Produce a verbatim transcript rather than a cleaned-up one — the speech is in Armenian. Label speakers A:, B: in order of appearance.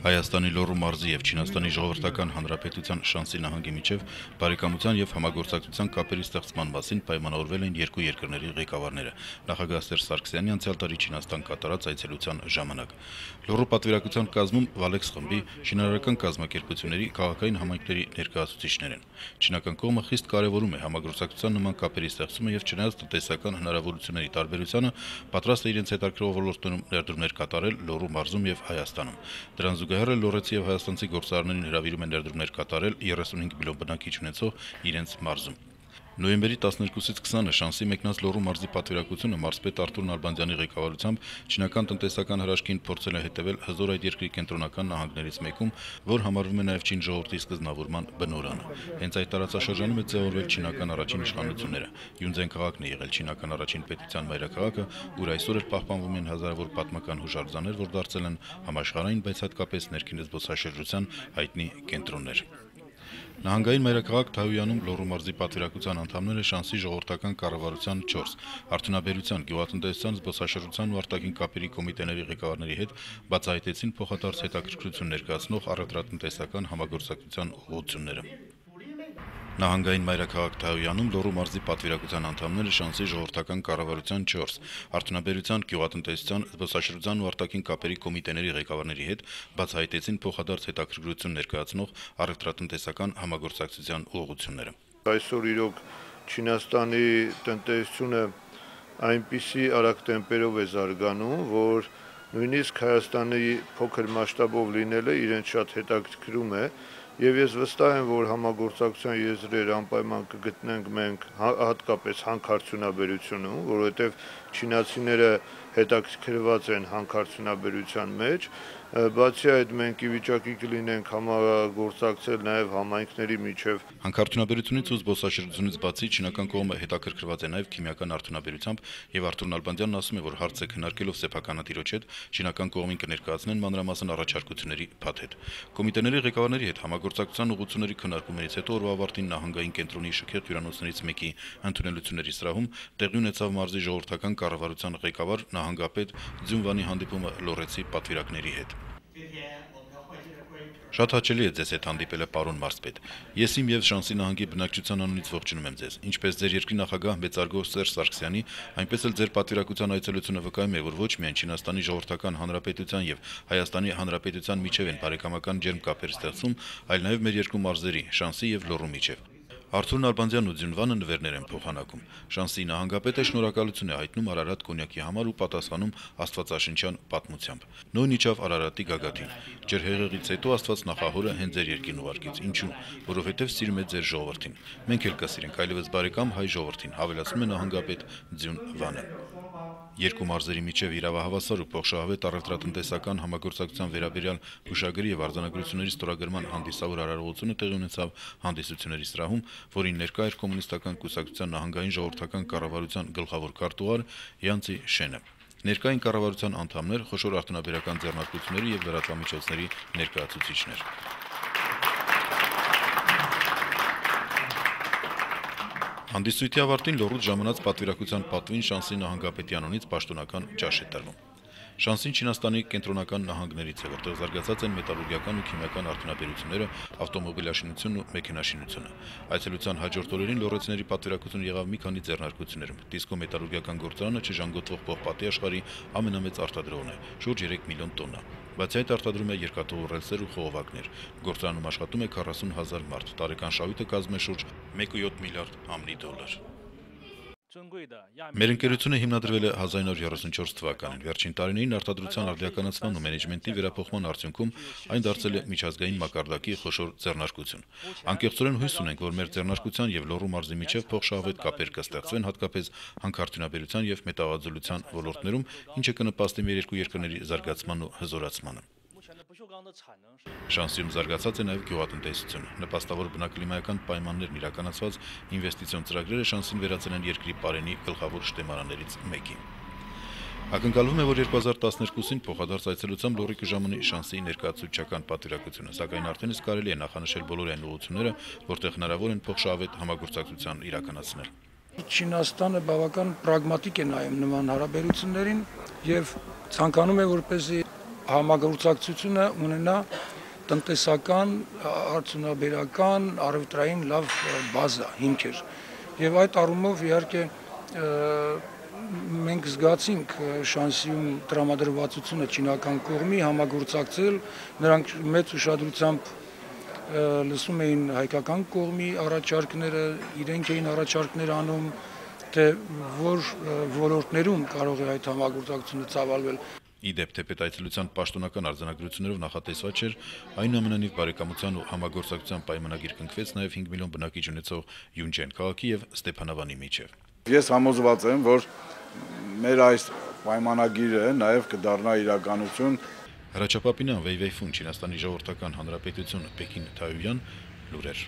A: Հայաստանի Լոռու մարզի եւ Չինաստանի Ժողովրդական Հանրապետության Շանսի նահանգի միջև բարեկամության եւ համագործակցության կապերի ստեղծման մասին պայմանավորվել են երկու երկրների ղեկավարները։ Նախագահ Սերժ Սարգսյանի անցյալ տարի Չինաստան կատարած այցելության ժամանակ Լոռու պատվիրակության կազմում Վալեքս խմբի, շինարարական կազմակերպությունների, քաղաքային համայնքների ներկայացուցիչներ են։ Չինական կողմը խիստ կարևորում է համագործակցության նման կապերի ստեղծումը եւ չնայած տնտեսական հնարավորությունների տարբերությանը պատրաստ է իրենց հետաքրքրող ոլորտներում ներդրումներ կատարել Լոռու մարզում եւ Հայաստանում։ Դրան զուգահեռ լոռեցի եւ հայաստանցի գործարարներին հրավիրում են ներդրումներ կատարել երեսունհինգ միլիոն բնակիչ ունեցող իրենց մարզում։ Նոյեմբերի տասներկուսից քսանը Շանսի մեկնած Լոռու մարզի պատվիրակությունը մարզպետ Արթուր Նալբանդյանի ղեկավարությամբ չինական տնտեսական հրաշքին փորձել է հետևել հզոր այդ երկրի կենտրոնական նահանգներից մեկում, որ համարվում է նաև Չին ժողովրդի սկզբնավորման բնօրրանը։ Հենց այդ տարածաշրջանում է ձևավորվել չինական առաջին իշխանությունները։ Յունձեն քաղաքն է եղել չինական առաջին պետության մայրաքաղաքը, ուր այսօր էլ պահպանվում են հազարավոր պատմական հուշարձաններ, որ դարձել են համաշխարհային, բայց հատկապես ներքին զբոսաշրջության հայտնի կենտրոններ։ Նահանգային մայրաքաղաք Թայոյանում Լոռու մարզի պատվիրակության անդամները Շանսի ժողովրդական կառավարության չորս, արդյունաբերության, գյուղատնտեսության, զբոսաշրջության ու արտաքին կապերի կոմիտեների ղեկավարների հետ բացահայտեցին փոխադարձ հետաքրքրություն ներկայացնող առևտրատնտեսական համագործակցության ուղղությունները։ Նահանգային մայրաքաղաք Թայոյանում Լոռու մարզի պատվիրակության անդամները Շանսի ժողովրդական կառավարության չորս, արդյունաբերության, գյուղատնտեսության, զբոսաշրջության ու արտաքին կապերի կոմիտեների ղեկավարների հետ բացահայտեցին փոխադարձ հետաքրքրություն ներկայացնող առևտրատնտեսական համագործակցության ուղղությունները։
B: Այսօր իրոք Չինաստանի տնտեսությունը այնպիսի արագ տեմպերով է զարգանում, որ նույնիսկ Հայաստանի փոքր մասշտաբով լինելը իրեն շատ հետաքրքրում է։ Եվ ես վստահ եմ, որ համագործակցության եզրեր անպայման կգտնենք մենք հատկապես հանքարդյունաբերությունում, որովհետև չինացիները հետաքրքրված են հանքարդյունաբերության մեջ, բացի այդ մենք ի վիճակի կլինենք համագործակցել նաև համայնքների միջև։
A: Հանքարդյունաբերությունից ու զբոսաշրջությունից բացի չինական կողմը հետաքրքրված է նաև քիմիական արդյունաբերությամբ եւ Արթուր Նալբանդյանն ասում է, որ հարցը քննարկելով սեփականատիրոջ հետ չինական կողմին կներկայացնեն մանրամասն առաջարկությունների փաթեթ։ Կոմիտեների ղեկավարների հետ համագործակցության ուղղությունների քննարկումներից հետո օրվա ավարտին նահանգային կենտրոնի շքեղ հյուրանոցներից մեկի ընդունելությունների սրահում տեղի ունեցավ մարզի ժողովրդական կառավարության ղեկավար նահանգապետ Ձյունվանի հանդիպումը լոռեցի պատվիրակների հետ։ Շատ հաճելի է ձեզ հետ հանդիպելը, պարոն մարզպետ։ Ես իմ եւ Շանսի նահանգի բնակչության անունից ողջունում եմ ձեզ։ Ինչպես ձեր երկրի նախագահ մեծարգո Սերժ Սարգսյանի, այնպես էլ ձեր պատվիրակության այցելությունը վկայում է, որ ոչ միայն Չինաստանի Ժողովրդական Հանրապետության եւ Հայաստանի Հանրապետության միջև են բարեկամական ջերմ կապեր ստեղծում, այլ նաեւ մեր երկու մարզերի՝ Շանսի եւ Լոռու միջև։ Արթուր Նալբանդյանն ու Ձյունվանը նվերներ են փոխանակում։ Շանսի նահանգապետը շնորհակալություն է հայտնում Արարատ կոնյակի համար ու պատասխանում աստվածաշնչյան պատմությամբ։ Նույն իջավ Արարատի գագաթին։ Ջրհեղեղից հետո Աստված նախահորը հենց ձեր երկրին ուղարկեց։ Ինչու՞։ Որովհետև սիրում է ձեր ժողովրդին։ Մենք էլ կսիրենք այլևս բարեկամ հայ ժողովրդին, հավելացնում է նահանգապետ Ձյունվանը։ Երկու մարզերի միջև իրավահավասար ու փոխշահավետ առևտրատնտեսական համագործակցության վերաբերյալ հուշագրի եւ արձանագրությունների ստորագրման հանդիսավոր արարողությունը տեղի ունեցավ հանդիսությունների սրահում, որին ներկա էր կոմունիստական կուսակցության նահանգային ժողովրդական կառավարության գլխավոր քարտուղար Յանցի Շենը։ Ներկային կառավարության անդամներ, խոշոր արտոնաբերական ձեռնարկությունների եւ լրատվամիջոցների ներկայացուցիչներ։ Հանդիսույթի ավարտին Լոռուց ժամանած պատվիրակության պատվին Շանսի նահանգապետի անունից պաշտոնական ճաշ է տրվում։ Շանսին Չինաստանի կենտրոնական նահանգներից է, որտեղ զարգացած են մետալուրգիական ու քիմիական արդյունաբերությունները, ավտոմոբիլաշինությունն ու մեքենաշինությունը։ Այցելության հաջորդ օրերին լոռեցիների պատվիրակությունը եղավ մի քանի ձեռնարկություններում։ Դիսկո մետալուրգիական գործարանը չժանգոտվող պողպատի աշխարհի ամենամեծ արտադրողն է՝ շուրջ երեք միլիոն տոննա։ Բացի այդ արտադրում է երկաթուղու ռելսեր ու խողովակներ։ Գործարանում աշխատում է քառասուն հազար մարդ։ Տարեկան շահույթը կազմում է շուրջ մեկ կόμμα յոթ միլիարդ ամնի դոլար։ Մեր ընկերությունը հիմնադրվել է հազար իննսուն յոթ թվականին։ Վերջին տարիներին արտադրության արդիականացման ու մենեջմենտի վերափոխման արդյունքում այն դարձել է միջազգային մակարդակի խոշոր ձեռնարկություն։ Անկեղծորեն հույս ունենք, որ մեր ձեռնարկության եւ Լոռու մարզի միջև փոխշահավետ կապեր կստեղծվեն հատկապես հանքարդյունաբերության եւ մետաղաձուլության ոլորտներում, ինչը կնպաստի մեր երկու երկրների զարգացման ու հզորացմանը։ Շանսիում զարգացած է նաև գյուղատնտեսությունը։ Նպաստավոր բնակլիմայական պայմաններն իրականացված ինվեստիցիոն ծրագրերը Շանսին վերածել են երկրի պարենի գլխավոր շտեմարաններից մեկի։ Ակնկալվում է, որ երկու հազար տասներկուսին փոխադարձ այցելությամբ Լոռի կժամանի Շանսի ներկայացուցչական պատվիրակությունը, սակայն արդեն իսկ կարելի է նախանշել բոլոր այն ուղղությունները, որտեղ հնարավոր են փոխշահավետ համագործակցության իրականացնել։
C: Չինաստանը բավական պրագմատիկ է նայում նման հարաբերություններին եւ ցանկանում է, որպեսզի համագործակցությունը ունենա տնտեսական, արդյունաբերական, առևտրային լավ բազա, հիմքեր։ Եվ այդ առումով իհարկե մենք զգացինք շանսիում տրամադրվածությունը չինական կողմի համագործակցել, նրանք մեծ ուշադրությամբ լսում էին հայկական կողմի առաջարկները, իրենք էին առաջարկներ անում, թե որ ոլորտներում կարող է այդ համագործակցությունը ծավալվել։
A: Ի դեպ, թեպետ այցելության պաշտոնական արձանագրություններով նախատեսված չէր, այնուամենայնիվ բարեկամության ու համագործակցության պայմանագիր կնքվեց նաև հինգ միլիոն բնակիչ ունեցող Յունջեն քաղաքի եւ Ստեփանավանի միջև։
D: Ես համոզված եմ, որ մեր այս պայմանագիրը նաև կդառնա իրականություն։
A: Հրաչապապինյան Վեյվեյ Ֆուն, Չինաստանի Ժողովրդական Հանրապետություն, Պեկին Թայոյան, լուրեր։